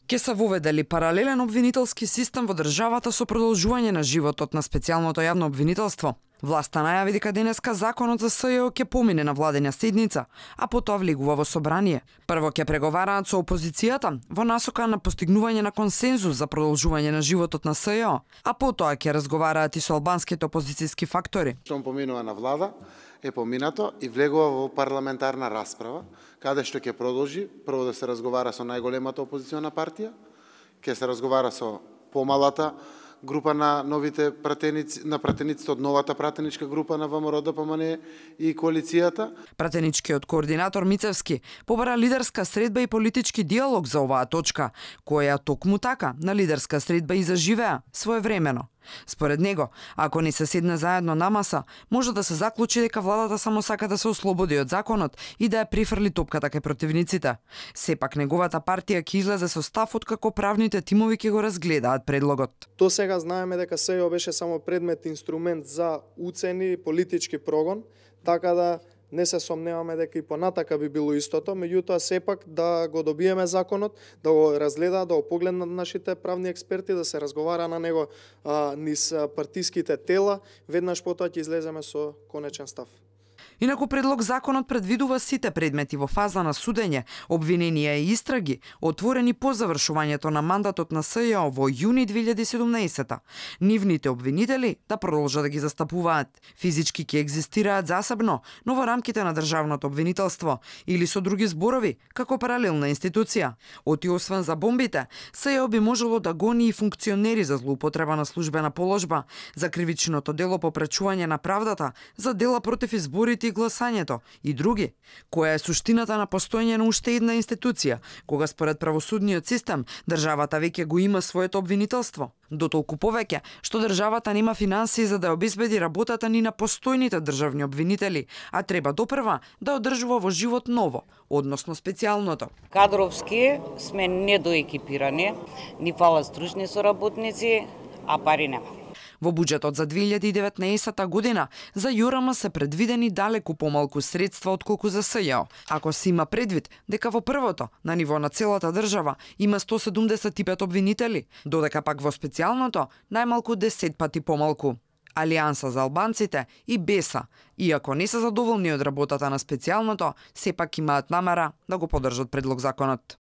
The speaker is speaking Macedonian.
Ке се воведе ли паралелен обвинителски систем во државата со продолжување на животот на специјалното јавно обвинителство? Власта најави дека денеска законот за СЈО ќе помине на владина седница, а потоа влегува во собрание. Прво ќе преговараат со опозицијата во насока на постигнување на консензус за продолжување на животот на СЈО, а потоа ќе разговараат и со албанските опозицијски фактори. Што поминува на влада е поминато и влегува во парламентарна расправа, каде што ќе продолжи прво да се разговара со најголемата опозициона партија, ќе се разговара со помалата група на новите пратеници, на пратениците од новата пратеничка група на ВМРО-ДПМНЕ и коалицијата. Пратеничкиот координатор Мицевски побара лидерска средба и политички диалог за оваа точка, која токму така на лидерска средба и заживеа своевремено. Според него, ако не се седне заедно на маса, може да се заклучи дека владата само сака да се ослободи од законот и да ја прифрли топката кај противниците. Сепак неговата партија ќе излезе со став откако правните тимови ќе го разгледаат предлогот. До сега знаеме дека СЈО беше само предмет, инструмент за уцени и политички прогон, така да не се сомневаме дека и понатака би било истото, меѓутоа сепак да го добиеме законот, да го разгледаат, да го погледнат нашите правни експерти, да се разговара на него низ партиските тела, веднаш потоа ќе излеземе со конечен став. Инаку предлог законот предвидува сите предмети во фаза на судење, обвиненија и истраги, отворени по завршувањето на мандатот на СЈО во јуни 2017. Нивните обвинители да продолжат да ги застапуваат. Физички ќе екзистираат засебно, но во рамките на државното обвинителство или со други зборови, како паралелна институција. Оти освен за бомбите, СЈО би можело да гони и функционери за злоупотреба на службена положба, за кривичното дело попречување на правдата, за дела против изборите и гласањето и други. Која е суштината на постоење на уште една институција, кога според правосудниот систем државата веќе го има своето обвинителство? Дотолку повеќе што државата нема финансии за да обезбеди работата ни на постојните државни обвинители, а треба допрва да одржува во живот ново, односно специјалното. Кадровски сме недоекипирани, ни фалат стручни соработници, а пари нема. Во буџетот за 2019 година за ЈОРМ се предвидени далеку помалку средства отколку за СЈО. Ако се има предвид дека во првото, на ниво на целата држава, има 175 обвинители, додека пак во специјалното најмалку 10 пати помалку. Алијанса за албанците и БЕСА, иако не се задоволни од работата на специјалното, сепак имаат намера да го поддржат предлог законот.